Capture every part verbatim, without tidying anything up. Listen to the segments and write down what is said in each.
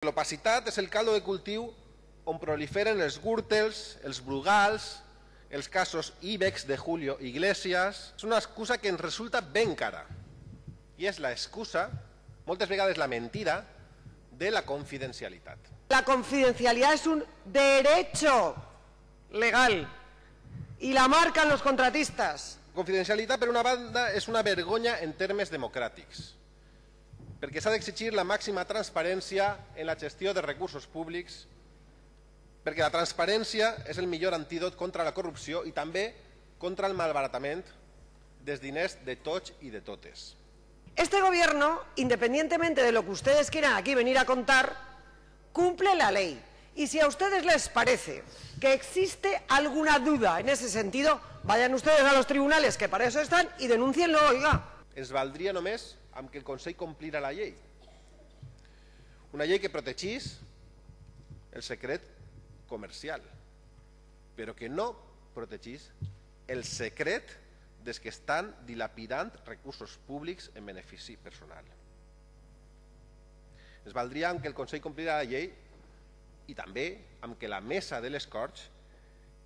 L'opacitat és el caldo de cultiu on proliferen els gürtels, els brugals, els casos Ibex de Julio Iglesias. És una excusa que ens resulta ben cara. I és l'excusa, moltes vegades la mentira, de la confidencialitat. La confidencialidad es un derecho legal y la marcan los contratistas. Confidencialitat, per una banda, és una vergonya en termes democràtics, perquè s'ha d'exigir la màxima transparència en la gestió de recursos públics, perquè la transparència és el millor antídot contra la corrupció i també contra el malbaratament dels diners de tots i de totes. Este gobierno, independientemente de lo que ustedes quieran aquí venir a contar, cumple la ley. Y si a ustedes les parece que existe alguna duda en ese sentido, vayan ustedes a los tribunales, que para eso están, y denúncienlo, oiga. Ens valdria només amb que el Consell complira la llei. Una llei que protegís el secret comercial, però que no protegís el secret dels que estan dilapidant recursos públics en benefici personal. Ens valdria amb que el Consell complira la llei i també amb que la mesa de les Corts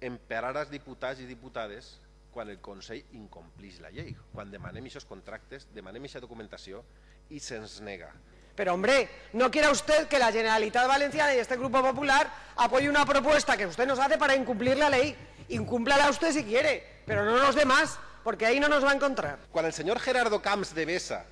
emparara els diputats i diputades quan el Consell incomplís la llei, quan demanem aquests contractes, demanem aquesta documentació i se'ns nega. Pero hombre, no quiera usted que la Generalitat Valenciana y este Grupo Popular apoye una propuesta que usted nos hace para incumplir la ley. Incúmplala usted si quiere, pero no nos dé más, porque ahí no nos va a encontrar. Quan el senyor Gerardo Camps de Besa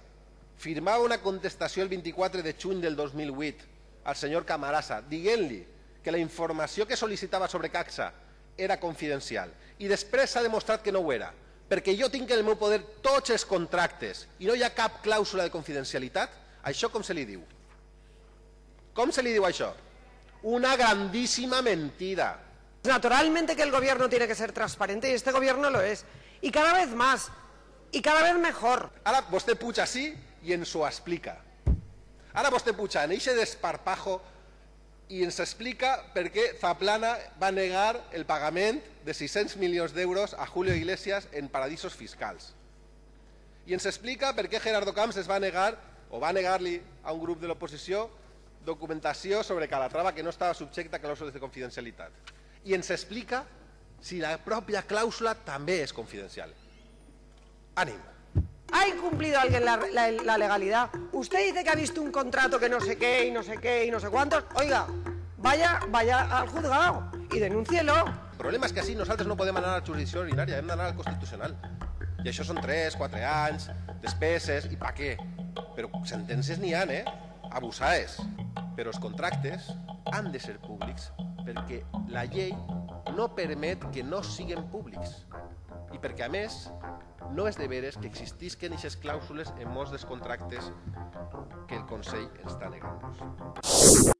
firmava una contestació el vint-i-quatre de juny del dos mil vuit al senyor Camarasa dient-li que la informació que sol·licitava sobre Caxa era confidencial i després s'ha demostrat que no ho era, perquè jo tinc en el meu poder tots els contractes i no hi ha cap clàusula de confidencialitat, això com se li diu? Com se li diu això? Una grandísima mentira. Naturalmente que el gobierno tiene que ser transparente y este gobierno lo es. Y cada vez más, y cada vez mejor. Ara vostè puja així i ens ho explica. Ara vostè puja en eixe desparpajo i ens explica per què Zaplana va negar el pagament de sis-cents milions d'euros a Julio Iglesias en paradisos fiscals. I ens explica per què Gerardo Camps es va negar, o va negar-li a un grup de l'oposició, documentació sobre Calatrava que no estava subjecta a clàusules de confidencialitat. I ens explica si la pròpia clàusula també és confidencial. Ànim. ¿Ha incumplido alguien la, la, la legalidad? Usted dice que ha visto un contrato que no sé qué y no sé qué y no sé cuántos. Oiga, vaya, vaya al juzgado y denúncielo. El problema és que així nosaltres no podem anar a la jurisdicció ordinària, hem d'anar al Constitucional. I això són tres, quatre anys, despeses, i pa què? Però sentències n'hi ha, eh? Abusades. Però els contractes han de ser públics perquè la llei no permet que no siguin públics. I perquè, a més, no és de veres que existisquen aquestes clàusules en molts dels contractes que el Consell ens està negant.